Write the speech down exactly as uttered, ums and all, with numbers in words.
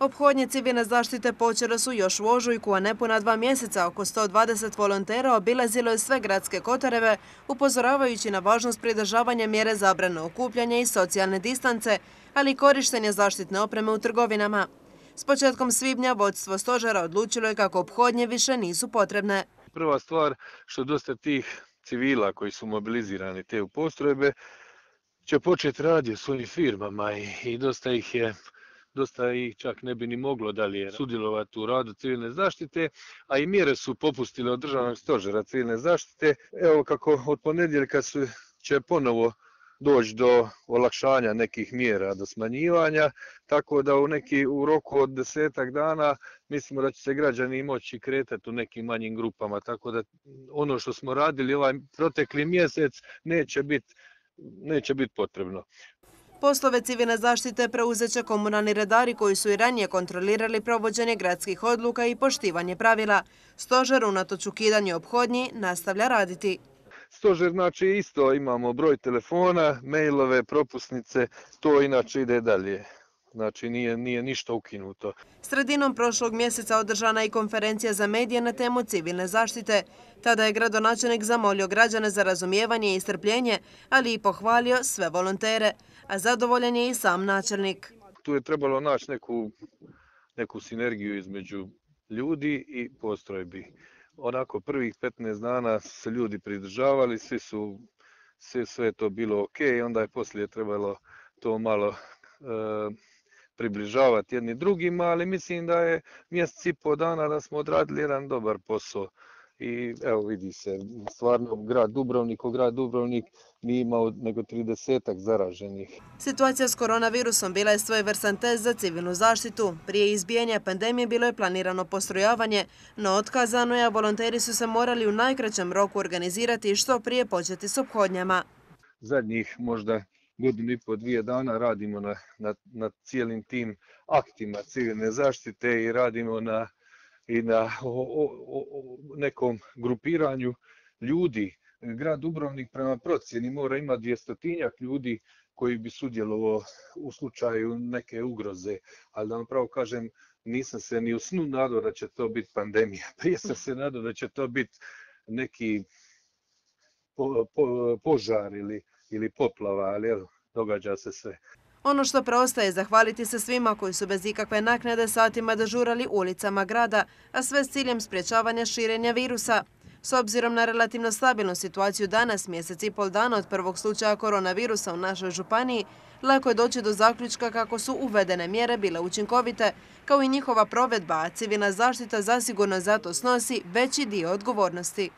Ophodnje civilne zaštite počele su još u ožujku, a nepuna dva mjeseca oko sto dvadeset volontera obilazilo je sve gradske kotareve, upozoravajući na važnost pridržavanja mjere zabrane okupljanja i socijalne distance, ali i korištenja zaštitne opreme u trgovinama. S početkom svibnja vodstvo stožera odlučilo je kako ophodnje više nisu potrebne. Prva stvar što dosta tih civila koji su mobilizirani te u postrojbe će početi raditi u svojim firmama i, i dosta ih je Dosta ih čak ne bi ni moglo dalje sudjelovati u radu civilne zaštite, a i mjere su popustile od državnog stožera civilne zaštite. Evo kako od ponedjeljka su, će ponovo doći do olakšanja nekih mjera, do smanjivanja, tako da u, neki, u roku od desetak dana mislimo da će se građani moći kretati u nekim manjim grupama, tako da ono što smo radili ovaj protekli mjesec neće biti neće biti potrebno. Poslove civilne zaštite preuzet će komunalni redari koji su i ranije kontrolirali provođenje gradskih odluka i poštivanje pravila. Stožer unatoč ukidanju ophodnji nastavlja raditi. Stožer, znači isto imamo broj telefona, mailove, propusnice, to inače ide dalje. Znači nije, nije ništa ukinuto. Sredinom prošlog mjeseca održana je konferencija za medije na temu civilne zaštite. Tada je gradonačelnik zamolio građane za razumijevanje i strpljenje, ali i pohvalio sve volontere, a zadovoljan je i sam načelnik. Tu je trebalo naći neku, neku sinergiju između ljudi i postrojbi. Onako prvih petnaest dana su se ljudi pridržavali, svi su, sve, sve to bilo ok, onda je poslije trebalo to malo e, približavati jedni drugima, ali mislim da je mjesec i po dana da smo odradili jedan dobar posao. I evo vidi se, stvarno grad Dubrovnik, o grad Dubrovnik nije imao nego tridesetak zaraženih. Situacija s koronavirusom bila je svojevrstan test za civilnu zaštitu. Prije izbijanja pandemije bilo je planirano postrojavanje, no otkazano je, a volonteri su se morali u najkraćem roku organizirati i što prije početi s ophodnjama. Zadnjih možda godinu i po dvije dana radimo na, na, na cijelim tim aktima civilne zaštite i radimo na i na o, o, o, nekom grupiranju ljudi. Grad Dubrovnik prema procjeni mora imati dvjestotinjak ljudi koji bi sudjelovao u slučaju neke ugroze, ali da vam pravo kažem, nisam se ni u snu nadao da će to biti pandemija. Prije sam se nadao da će to biti neki po, po, požar ili, ili poplava, ali evo, događa se sve. Ono što preostaje je zahvaliti se svima koji su bez ikakve naknade satima dežurali ulicama grada, a sve s ciljem sprječavanja širenja virusa. S obzirom na relativno stabilnu situaciju danas, mjesec i pol dana od prvog slučaja koronavirusa u našoj županiji, lako je doći do zaključka kako su uvedene mjere bile učinkovite, kao i njihova provedba, a civilna zaštita zasigurno zato snosi veći dio odgovornosti.